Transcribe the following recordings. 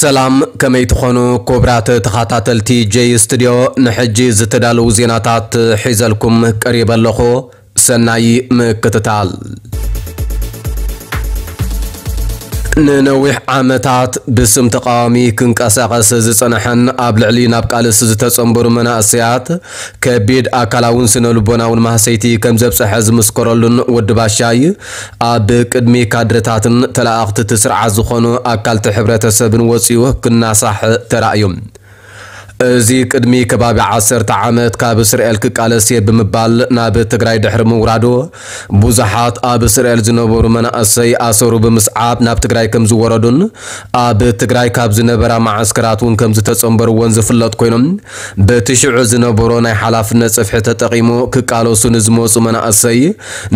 ሰላም፣ ከመይ ትኾኑ ክቡራት ተኸታተልቲ ጄይ ስቱድዮ? ንሕጂ ዝተዳለዉ ዜናታት ሒዘልኩም ቀሪበ ኣለኹ። ሰናይ ምክትታል። ንነዊሕ ዓመታት ብስም ተቃዋሚ ክንቀሳቐስ ዝጸንሐን ኣብ ልዕሊ ናብ ቃልሲ ዝተጸንበሩ መናእሰያት ከቢድ ኣካላውን ስነ ልቦናውን ማህሰይቲ ከም ዘብጽሐ ዝምስከረሉን ወዲ ባሻይ ኣብ ቅድሚ ካድረታትን ተለኣኽቲ እቲ ስርዓት ዝኾኑ ኣካልቲ ሕብረተሰብን ወጺኡ ክናሳሕ ተራእዩ። እዚ ቅድሚ ከባቢ ዓሰርተ ዓመት ካብ እስራኤል ክቃለስ እየ ብምባል ናብ ትግራይ ድሕሪ ምውራዱ፣ ብዙሓት ኣብ እስራኤል ዝነበሩ መናእሰይ ኣሰሩ ብምስዓብ ናብ ትግራይ ከም ዝወረዱን ኣብ ትግራይ ካብ ዝነበራ መዓስከራት እውን ከም ዝተጸንበርዎን ዝፍለጥ ኮይኖም፣ በቲ ሽዑ ዝነበሮ ናይ ሓላፍነት ጽፍሒ ተጠቒሙ ክቃለሱ ንዝመጹ መናእሰይ፣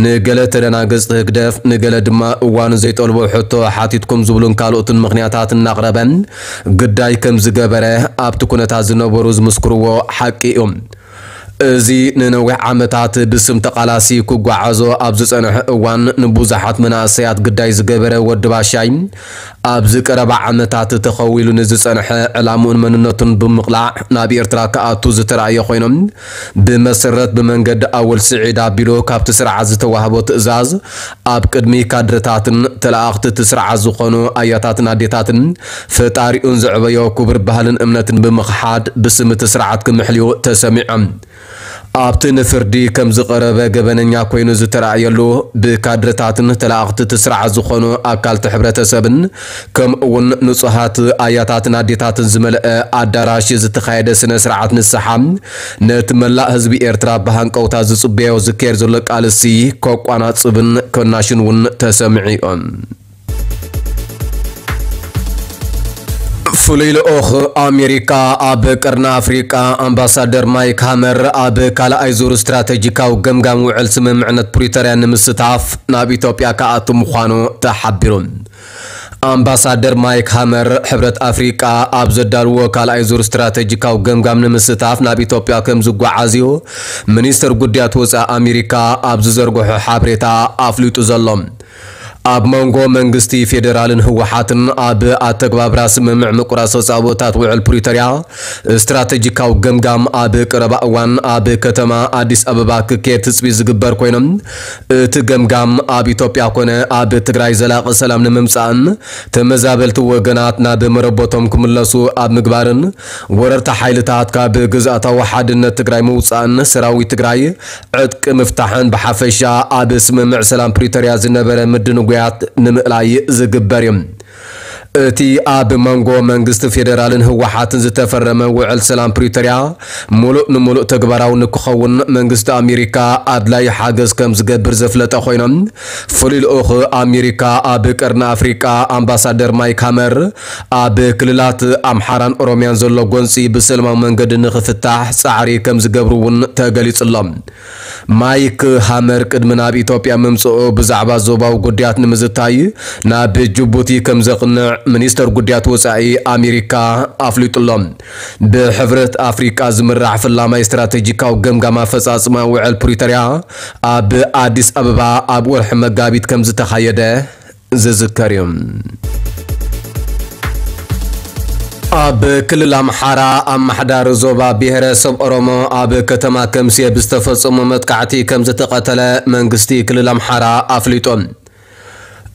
ንገለ ተደናገጽቲ ህግደፍ፣ ንገለ ድማ እዋኑ ዘይጠልቦ ሕቶ ሓቲትኩም ዝብሉን ካልኦትን ምኽንያታት እናቕረበ ግዳይ ከም ዝገበረ ኣብቲ ኩነታት ዝነበሩ ዝምስክርዎ ሓቂ እዩ። እዚ ንነዊሕ ዓመታት ብስም ተቓላሲ ክጓዓዞ ኣብ ዝጸንሐ እዋን፣ ንብዙሓት መናእሰያት ግዳይ ዝገበረ ወዲ ባሻይ፣ ኣብዚ ቀረባ ዓመታት ተኸዊሉ ንዝጸንሐ ዕላምኡን መንነቱን ብምቕላዕ ናብ ኤርትራ ክኣቱ ዝተራእየ ኮይኖም፣ ብመሰረት ብመንገዲ ኣወል ስዒድ ኣቢሉ ካብቲ ስርዓት ዝተዋህቦ ትእዛዝ፣ ኣብ ቅድሚ ካድረታትን ተለኣኽቲ እቲ ስርዓት ዝኾኑ ኣያታትን ኣዴታትን ፈጣሪኡን ዘዕበዮ ክቡር ባህልን እምነትን ብምኽሓድ ብስም እቲ ስርዓት ክምሕልዩ ተሰሚዖም። ኣብቲ ንፍርዲ ከም ዝቐረበ ገበነኛ ኮይኑ ዝተራእየሉ፣ ብካድረታትን ተለኣኽቲ እቲ ስርዓት ዝኾኑ ኣካልቲ ሕብረተሰብን ከምኡ እውን ንጹሃት ኣያታትን ኣዴታትን ዝመልአ ኣዳራሽ ዝተኻየደ ስነ ስርዓት ንስሓ፣ ነቲ መላእ ህዝቢ ኤርትራ ብሃንቀውታ ዝጽበዮ ዝካየድ ዘሎ ቃልሲ ከቋናጽብን ከናሽን እውን ተሰሚዑ። ፍሉይ ልኡኽ ኣሜሪካ ኣብ ቀርኒ ኣፍሪቃ ኣምባሳደር ማይክ ሃመር ኣብ ካልኣይ ዙር ስትራተጂካዊ ገምጋም ውዕል ስምምዕነት ፕሪቶርያ ንምስታፍ ናብ ኢትዮጵያ ክኣቱ ምዃኑ ተሓቢሩ። ኣምባሳደር ማይክ ሃመር፣ ሕብረት ኣፍሪቃ ኣብ ዘዳልዎ ካልኣይ ዙር ስትራተጂካዊ ገምጋም ንምስታፍ ናብ ኢትዮጵያ ከም ዝጓዓዝ እዩ ሚኒስትር ጉዳያት ወጻኢ ኣሜሪካ ኣብ ዝዘርግሖ ሓበሬታ ኣፍሊጡ ዘሎ። ኣብ መንጎ መንግስቲ ፌዴራልን ህወሓትን ኣብ ኣተግባብራ ስምምዕ ምቁራጽ ተጻብኦታት ውዕል ፕሪቶርያ ስትራተጂካዊ ገምጋም ኣብ ቀረባ እዋን ኣብ ከተማ ኣዲስ ኣበባ ክካየድ ትጽቢት ዝግበር ኮይኖም፣ እቲ ገምጋም ኣብ ኢትዮጵያ ኮነ ኣብ ትግራይ ዘላቒ ሰላም ንምምጻእን ተመዛበልቲ ወገናት ናብ መረበቶም ክምለሱ ኣብ ምግባርን ወረርቲ ሓይልታት ካብ ግዝኣታዊ ሓድነት ትግራይ ምውጻእን ሰራዊት ትግራይ ዕጥቂ ምፍታሕን ብሓፈሻ ኣብ ስምምዕ ሰላም ፕሪቶርያ ዝነበረ ምድንጓያት ንምእላይ ዝግበር እዩ። እቲ ኣብ መንጎ መንግስቲ ፌዴራልን ህወሓትን ዝተፈረመ ውዕል ሰላም ፕሪቶርያ ሙሉእ ንሙሉእ ተግባራዊ ንክኸውን መንግስቲ ኣሜሪካ ኣድላዪ ሓገዝ ከም ዝገብር ዘፍለጠ ኮይኖም፣ ፍሉይ ልኡኽ ኣሜሪካ ኣብ ቀርኒ ኣፍሪቃ ኣምባሳደር ማይክ ሃመር ኣብ ክልላት ኣምሓራን ኦሮሚያን ዘሎ ጎንፂ ብሰላማዊ መንገዲ ንክፍታሕ ፃዕሪ ከም ዝገብሩ እውን ተገሊጹ ኣሎ። ማይክ ሃመር ቅድሚ ናብ ኢትዮጵያ ምምጽኡ ብዛዕባ ዞባዊ ጉዳያት ንምዝታይ ናብ ጅቡቲ ከም ዘቕንዕ ሚኒስተር ጉዳያት ወጻኢ ኣሜሪካ ኣፍሊጡ ኣሎ። ብሕብረት ኣፍሪቃ ዝምራሕ ፍላማይ ስትራተጂካዊ ገምጋም ኣፈጻጽማ ውዕል ፕሪቶርያ ኣብ ኣዲስ ኣበባ ኣብ ወርሒ መጋቢት ከም ዝተኻየደ ዝዝከር እዩ። ኣብ ክልል ኣምሓራ ኣመሓዳሪ ዞባ ብሄረሰብ ኦሮሞ ኣብ ከተማ ከምስየ ብዝተፈጸመ መጥቃዕቲ ከም ዝተቐተለ መንግስቲ ክልል ኣምሓራ ኣፍሊጡ።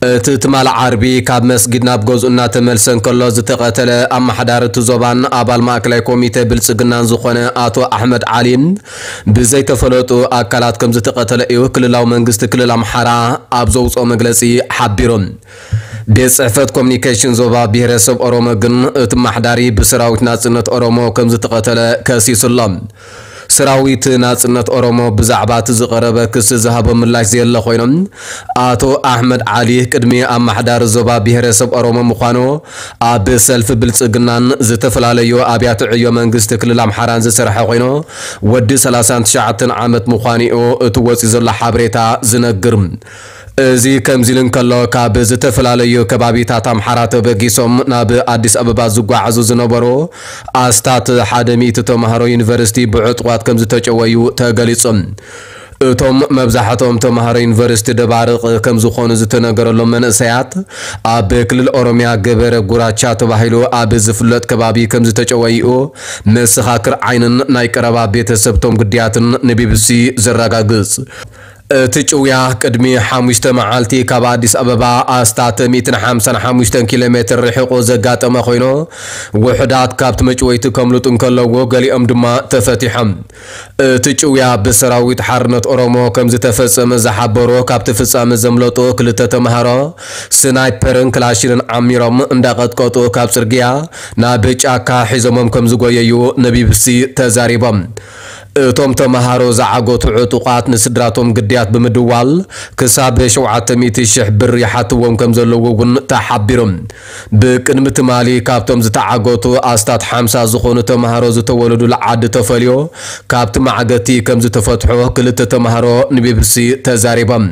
እቲ ትማሊ ዓርቢ ካብ መስጊድ ናብ ገዝኡ እናተመልሰ እንከሎ ዝተቐተለ ኣመሓዳሪ እቲ ዞባን ኣባል ማእከላይ ኮሚቴ ብልጽግናን ዝኾነ ኣቶ ኣሕመድ ዓሊ ብዘይተፈለጡ ኣካላት ከም ዝተቐተለ እዩ ክልላዊ መንግስቲ ክልል ኣምሓራ ኣብ ዘውፅኦ መግለፂ ሓቢሩ። ቤት ጽሕፈት ኮሚኒኬሽን ዞባ ብሄረሰብ ኦሮሞ ግን እቲ ኣመሓዳሪ ብሰራዊት ናጽነት ኦሮሞ ከም ዝተቐተለ ከሲሱ ኣሎ። ሰራዊት ናጽነት ኦሮሞ ብዛዕባ እቲ ዝቐረበ ክሲ ዝሃቦ ምላሽ ዘየለ ኮይኖም፣ ኣቶ ኣሕመድ ዓሊ ቅድሚ ኣመሓዳሪ ዞባ ብሄረሰብ ኦሮሞ ምዃኑ ኣብ ሰልፊ ብልጽግናን ዝተፈላለዩ ኣብያተ ዕዮ መንግስቲ ክልል ኣምሓራን ዝሰርሐ ኮይኑ፣ ወዲ ሰላሳን ትሽዓተን ዓመት ምዃኑ እዩ እቲ ወጺኡ ዘሎ ሓበሬታ ዝነግር። እዚ ከምዚ ኢሉ እንከሎ፣ ካብ ዝተፈላለዩ ከባቢታት ኣምሓራ ተበጊሶም ናብ ኣዲስ ኣበባ ዝጓዓዙ ዝነበሩ ኣስታት ሓደ ሚእቲ ተምሃሮ ዩኒቨርሲቲ ብዕጡቓት ከም ዝተጨወዩ ተገሊጹ። እቶም መብዛሕትኦም ተምሃሮ ዩኒቨርሲቲ ደባርቕ ከም ዝኾኑ ዝተነገረሎም መንእሰያት፣ ኣብ ክልል ኦሮሚያ ገበረ ጉራቻ ተባሂሉ ኣብ ዝፍለጥ ከባቢ ከም ዝተጨወይኡ መሰኻክር ዓይንን ናይ ቀረባ ቤተሰብቶም ግዳያትን ንቢቢሲ ዘረጋግጽ። እቲ ጭውያ ቅድሚ ሓሙሽተ መዓልቲ ካብ ኣዲስ ኣበባ ኣስታት ሚእትን ሓምሳን ሓሙሽተን ኪሎ ሜትር ርሒቑ ዘጋጠመ ኮይኑ፣ ውሑዳት ካብቲ መጭወይቲ ከምልጡ እንከለዉ፣ ገሊኦም ድማ ተፈቲሖም። እቲ ጭውያ ብሰራዊት ሓርነት ኦሮሞ ከም ዝተፈጸመ ዝሓበሩ ካብቲ ፍጻመ ዘምለጡ ክልተ ተምሃሮ፣ ስናይፐርን ክላሽንን ዓሚሮም እንዳቐጥቀጡ ካብ ጽርግያ ናብ ጫካ ሒዞሞም ከም ዝጎየዩ ንቢቢሲ ተዛሪቦም። እቶም ተምሃሮ ዝዓገቱ ዕጡቓት ንስድራቶም ግዳያት ብምድዋል ክሳብ ሸውዓተ ሚእቲ ሽሕ ብር ይሓትዎም ከም ዘለዉ እውን ተሓቢሩ። ብቅድሚ ትማሊ ካብቶም ዝተዓገቱ ኣስታት ሓምሳ ዝኾኑ ተምሃሮ ዝተወለዱሉ ዓዲ ተፈልዮ ካብቲ ማዕገቲ ከም ዝተፈትሑ ክልተ ተምሃሮ ንቢቢሲ ተዛሪቦም።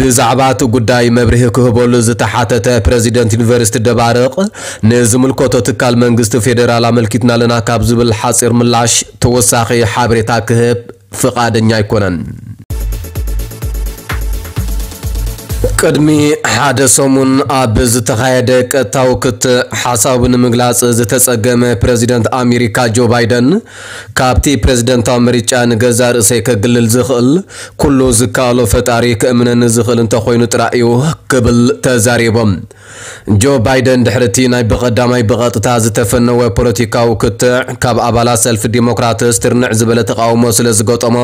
ብዛዕባ እቲ ጉዳይ መብርሂ ክህበሉ ዝተሓተተ ፕረዚደንት ዩኒቨርሲቲ ደባርቕ፣ ንዝምልከቶ ትካል መንግስቲ ፌደራል ኣመልኪትና ኣለና ካብ ዝብል ሓጺር ምላሽ ተወሳኺ ሓበሬታ ክህብ ፍቓደኛ ኣይኮነን። ቅድሚ ሓደ ሰሙን ኣብ ዝተኻየደ ቀጥታዊ ክትዕ ሓሳቡ ንምግላጽ ዝተጸገመ ፕረዚደንት ኣሜሪካ ጆ ባይደን፣ ካብቲ ፕረዚደንታዊ ምርጫ ንገዛእ ርእሰይ ከግልል ዝኽእል፣ ኩሉ ዝከኣሎ ፈጣሪ ክእምነኒ ዝኽእል እንተኾይኑ ጥራይ እዩ ክብል ተዛሪቦም። ጆ ባይደን ድሕሪ እቲ ናይ ብቐዳማይ ብቐጥታ ዝተፈነወ ፖለቲካዊ ክትዕ፣ ካብ ኣባላት ሰልፊ ዲሞክራትስ ትርንዕ ዝበለ ተቓውሞ ስለ ዝገጠሞ፣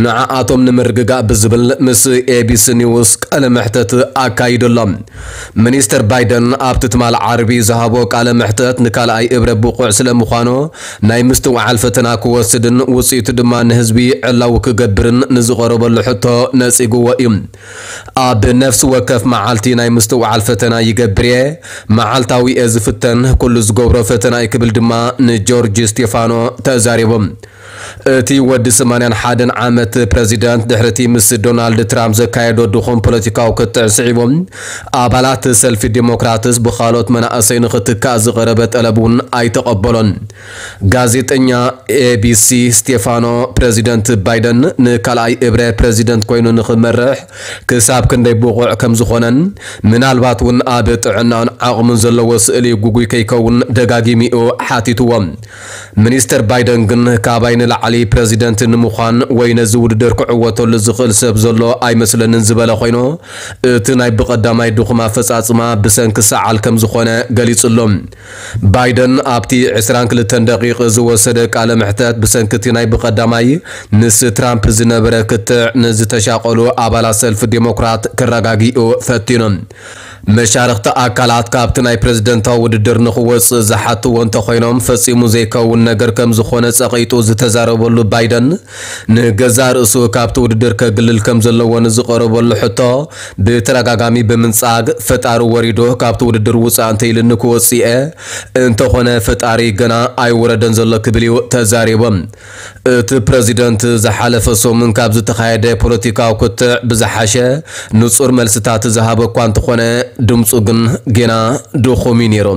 ንዓኣቶም ንምርግጋእ ብዝብል ምስ ኤቢሲ ኒውስ ቃለ መሕተት ኣካይዱ ኣሎ። ሚኒስተር ባይደን ኣብቲ ትማል ዓርቢ ዝሃቦ ቃለ መሕተት ንካልኣይ እብረ ብቑዕ ስለ ምዃኑ ናይ ምስትውዓል ፈተና ክወስድን ውጽኢቱ ድማ ንህዝቢ ዕላዊ ክገብርን ንዝቐረበሉ ሕቶ ነጺግዎ እዩ። ኣብ ነፍሲ ወከፍ መዓልቲ ናይ ምስትውዓል ፈተና ይገብር እየ፣ መዓልታዊ እየ ዝፍተን፣ ኩሉ ዝገብሮ ፈተና እዩ ክብል ድማ ንጆርጅ ስቴፋኖ ተዛሪቡ። እቲ ወዲ ሰማንያን ሓደን ዓመት ፕረዚደንት ድሕሪ እቲ ምስ ዶናልድ ትራምፕ ዘካየዶ ድኹም ፖለቲካዊ ክትዕ ስዒቡ፣ ኣባላት ሰልፊ ዲሞክራትስ ብኻልኦት መናእሰይ ንኽትካእ ዝቐረበ ጠለብ እውን ኣይተቐበሎን። ጋዜጠኛ ኤቢሲ ስቴፋኖ፣ ፕረዚደንት ባይደን ንካልኣይ እብረ ፕረዚደንት ኮይኑ ንኽመርሕ ክሳብ ክንደይ ብቑዕ ከም ዝኾነን ምናልባት እውን ኣብ ጥዕናን ዓቕሙን ዘለዎ ስእሊ ጉጉይ ከይከውን ደጋጊሙ እዩ ሓቲትዎ። ሚኒስተር ባይደን ግን፣ ካባይ ንላዕሊ ፕረዚደንት ንምዃን ወይ ነዚ ውድድር ክዕወተሉ ዝኽእል ሰብ ዘሎ ኣይመስለንን ዝበለ ኮይኑ፣ እቲ ናይ ብቐዳማይ ድኹም ኣፈጻጽማ ብሰንኪ ሰዓል ከም ዝኾነ ገሊጹ ኣሎ። ባይደን ኣብቲ ዕስራን ክልተን ደቂቕ ዝወሰደ ቃለ መሕተት፣ ብሰንኪ እቲ ናይ ብቐዳማይ ምስ ትራምፕ ዝነበረ ክትዕ፣ ንዝተሻቐሉ ኣባላት ሰልፊ ዴሞክራት ከረጋግኡ ፈቲኑ። መሻርኽቲ ኣካላት ካብቲ ናይ ፕረዚደንታዊ ውድድር ንኽወጽእ ዝሓትዎ እንተኾይኖም፣ ፈጺሙ ዘይከውን ነገር ከም ዝኾነ ጸቒጡ ዝተዛረበሉ ባይደን፣ ንገዛእ ርእሱ ካብቲ ውድድር ከግልል ከም ዘለዎ ንዝቐረበሉ ሕቶ ብተደጋጋሚ ብምንጻግ፣ ፈጣሪ ወሪዱ ካብቲ ውድድር ውጻእ እንተኢሉኒ ክወጽእ እየ፣ እንተኾነ ፈጣሪ ገና ኣይወረደን ዘሎ ክብል እዩ ተዛሪቡ። እቲ ፕረዚደንት ዝሓለፈ ሰሙን ካብ ዝተኻየደ ፖለቲካዊ ክትዕ ብዝሓሸ ንጹር መልስታት ዝሃበ እኳ እንተኾነ፣ ድምጹ ግን ጌና ድኹም እዩ ነይሩ።